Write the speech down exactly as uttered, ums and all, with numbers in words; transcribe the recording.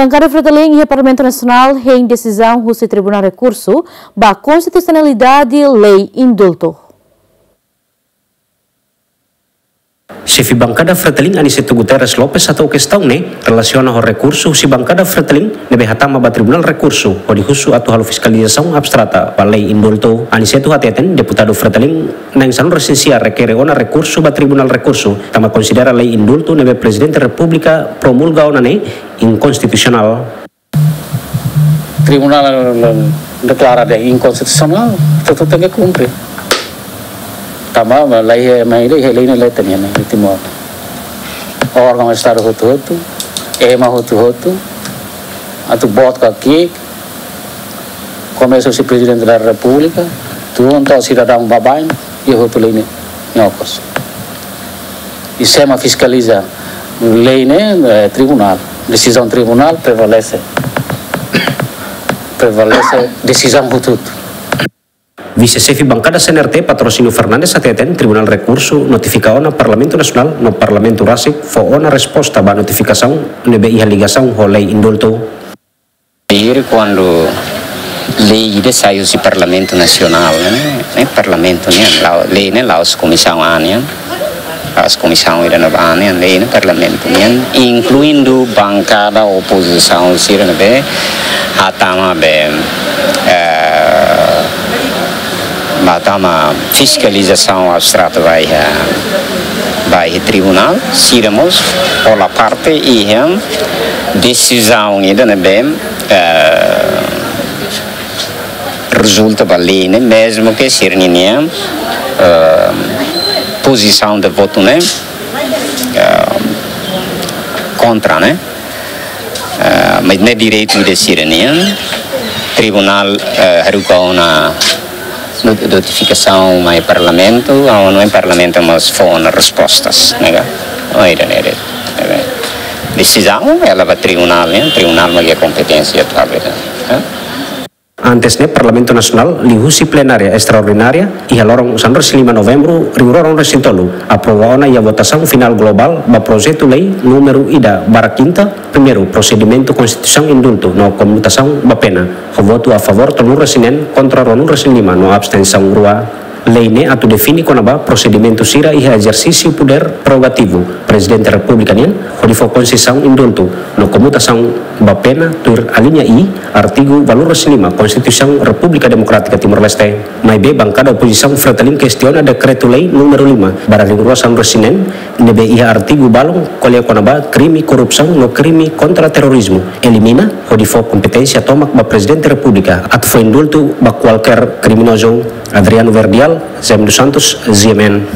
Bankada Fretilin iha Parlamentu Nasionál hein desizaun husi Tribunál Rekursu ba Konstitusionalidade lei indultu. Xefe Bankada Fretilin Aniceto Guterres Lopes hato'o kestaun ne'e relasiona ho rekursu husi Bankada Fretilin ne'ebé hatama ba Tribunál Rekursu hodi husu atu halo fiskalizasaun abstrata ba lei indultu. Aniceto hateten deputadu Fretilin na'in sanulu-resin-sia rekere ona rekursu ba Tribunál Rekursu tanba konsidera lei indultu ne'ebé Prezidente Repúblika promulga ona ne'e inkonstitusionál. Tribunál deklara de inkonstitusionál, tentu tenke kumpre. Tanba lei, mai lei, lei ne'e leten iha Timor. Órgaun Estadu hotu-hotu, ema hotu-hotu, atu boot ka ki'ik, komesa husi Prezidente da Repúblika, tun to'o sidadaun baibain, iha hotu lei ne'e, ne'e okos. I sé mak fiskaliza lei ne'e, eh, tribunál. Desizaun tribunál prevalese. Prevalese desizaun hotu-hotu. Vise-Xefe Bankada C N R T Patrocínio Fernandes hateten Tribunál Rekursu notifika ona Parlamentu Nasionál no Parlamentu rasik fó ona resposta ba notifikasaun ne'ebé iha ligasaun ho lei indultu. Ayer kuandu lei ida sai husi Parlamentu Nasionál, ne'e, ne'e Parlamentu nian, la'o, lei ne'e la'ós komisaun A nian, la'ós komisaun ida-ne'ebá nian, lei ne'e Parlamentu nian, inkluindu bankada opozisaun sira ne'ebé hatama be, eh, hatama fiskalizasaun abstrata ba iha, ba iha tribunál, sira mós hola parte iha desizaun ida ne'ebé, eh, rezulta ba lei ne'e, mezmu ke sira-nia, eh, pozisaun de votu ne'e, eh, kontra, ne'e. Eh, mas ne'e direitu ida sira-nian, tribunál, eh, haruka ona not-, notifikasaun mai Parlamentu, aonde Parlamentu mós fó ona respostas, ne'e ka? Oh, ida-ne'e, ida-ne'e. Desizaun, ela ba tribunál, ne'e, tribunál mak iha kompeténsia atu halo, ne'e. Antes ne'e, Parlamentu Nasionál liuhusi plenária estraordinária iha loron sanulu-resin-lima Novembru rihun rua ruanulu-resin-tolu aprova ona iha votasaun finál globál ba projetu lei númeru ida barra kinta, primeiru prosedimentu konstituisaun indultu no komutasaun ba pena, ho votu a favór tolunulu-resin-neen, kontra ruanulu-resin-lima no abstensaun rua. Lei ne'e atu define kona-ba prosedimentu sira iha ezersísiu podér prerogativu Prezidente Repúblika nian, hodi fó konsesaun indultu no komutasaun ba pena tuir alínea I, artigu valur resin lima Konstituisaun Repúblika Demokrátika Timor-Leste. Maibé bankada opozisaun Fretilin kestiona dekretu-lei númeru lima barra rihun rua sanulu-resin-neen, ne'ebé iha artigu balun ko'alia kona-ba krime korrupsaun no krime kontra terorizmu, elimina, hodi fó kompeténsia tomak ba Prezidente Repúblika atu fó indultu ba kualkér kriminozu. Adriano Verdial, Zem dos Santos, G M N.